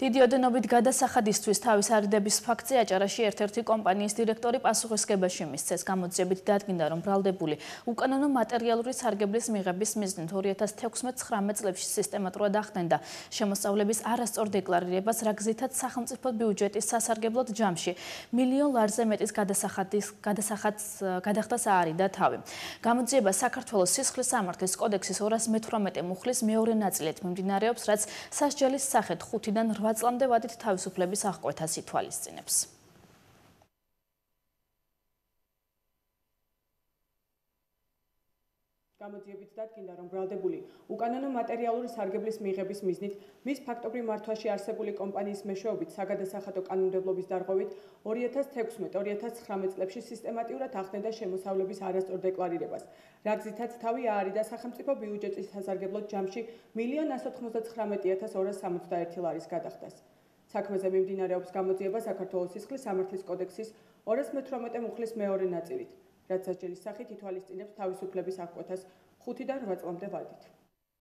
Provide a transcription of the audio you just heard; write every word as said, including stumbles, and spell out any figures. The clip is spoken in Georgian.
დიდი ოდენობით გადასახადისთვის თავის არიდების ფაქტზე აჭარაში ერთ-ერთი კომპანიის დირექტორი პასუხისმგებაში მისცეს. გამოძიებით დადგინდა, რომ ბრალდებული უკანონო მატერიალური სარგებლის მიღების მიზნით ორი ათას თექვსმეტ-ცხრამეტ წლებში სისტემატურად ახდენდა შემოსავლების არასწორ დეკლარირებას, რა გზითაც სახელმწიფო ბიუჯეტის სასარგებლოდ ჯამში მილიონ ლარზე მეტის გადასახადის გადასახადს გადახდა საარიდა თავი. გამოძიება საქართველოს სისხლის სამართლის კოდექსის ორას მეთვრამეტე მუხლის მეორე ნაწილით მიმდინარეობს, რაც სასჯელის სახით ხუთიდან რვა წლამდე ვადით თავისუფლების აღკვეთას ითვალისწინებს. გამოძიებით დადგინდა, რომ ბრალდებული უკანონო მატერიალური სარგებლის მიღების მიზნით მის ფაქტობრივ მართვაში არსებული კომპანიის მეშვეობით საგადასახადო კანონმდებლობის დარღვევით ორი ათას თექვსმეტ ორი ათას ცხრამეტ წლებში სისტემატურად ახდენდა შემოსავლების არასწორ დეკლარირებას, რა გზითაც თავი აარიდა სახელმწიფო ბიუჯეტის სასარგებლოდ ჯამში მილიონ ასი ათას ოცდაათი ათას ორას სამოცდაერთი ლარის გადახდას. საქმეზე მიმდინარეობს გამოძიება საქართველოს სისხლის სამართლის კოდექსის ორას მეთვრამეტე მუხლის მეორე ნაწილით, რაც სასჯელის სახით ითვალისწინებს თავისუფლების აღკვეთას ხუთიდან რვა წლამდე ვადით.